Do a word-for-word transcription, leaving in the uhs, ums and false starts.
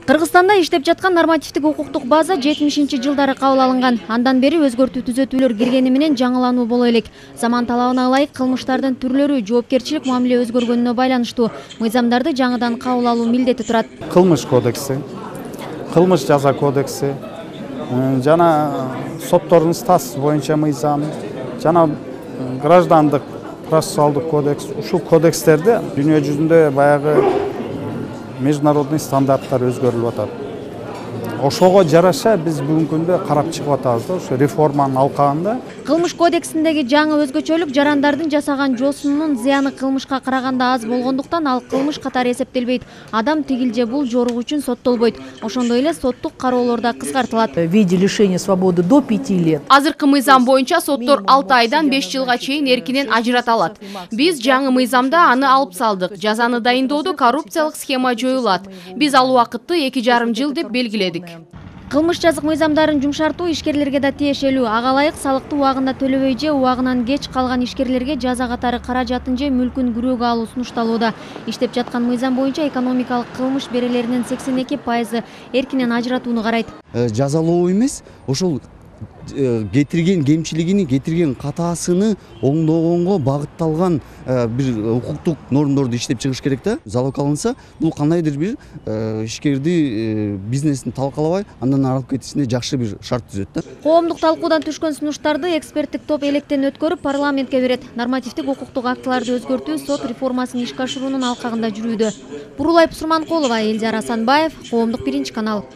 Кыргызстанда иштеп жаткан нормативдик укуктук база жетимишинчи жылдары кабыл алынган. Андан бери өзгөртүү түзөтүүлөр киргени менен жаңылануу боло элек. Заман талабына ылайык кылмыштардын түрлөрү, жоопкерчилик мамиле өзгөргөнүнө байланыштуу мыйзамдарды жаңыдан кабыл алуу милдети турат. Кылмыш кодекси, кылмыш жаза кодекси, жана соттордун статусу боюнча мыйзам, жана граждандык процессуалдык кодекс. Ушул кодекстерде дүйнө жүзүндө баягы международный стандарттар өзгөрүлүп атат. Ошого жараша биз бүгүнкү күндө карап чыгып атабыз да, ошо реформанын алкагында. Кылмыш кодексиндеги жаңы өзгөчөлүк жарандардын жасаган жоосунун зыяны кылмышка караганда аз болгондуктан ал кылмыш катары эсептелбейт. Адам тигил же бул жорук үчүн соттолбойт. Ошондой эле соттук кароолор да кыскартылат. В виде лишения свободы до пяти лет. Азыркы мыйзам боюнча соттор алты айдан беш жылга чейин эркинен ажырата алат. Биз жаңы мыйзамда аны алып салдык. Жазаны дайындоодо коррупциялык схема жоюлат. Биз ал убакытты эки жарым жыл деп белгиледик. Кылмыш жазык мыйзамдарын жумшартуу ишкерлерге да тиешелүү. Ага ылайык салыкты убагында төлөбөй же убагынан кеч калган ишкерлерге жаза катары каражатын же мүлкүн күрөөгө алуу сунушталууда. Иштеп жаткан мыйзам боюнча экономикалык кылмыш берелеринин сексен эки пайызы эркинен ажыратууну карайт. Жазалоо эмес, ошол кетирген кемчилигини, кетирген катаасыны оңдогонго багытталган бир укуктук нормдорду иштеп чыгыш керек да. Залог алынса, бул кандайдыр бир ишкерди бизнесин талкалабай, андан аралып кетишине жакшы бир шарт түзөт да. Коомдук талкуудан түшкөн сунуштарды эксперттик топ электен өткөрүп парламентке берет. Нормативдик укуктук актыларды өзгөртүү сот реформасын ишке ашыруунун алкагында жүрүүдө. Бурулай Пусурманкулова, Элдияр Асанбаев, Коомдук биринчи канал.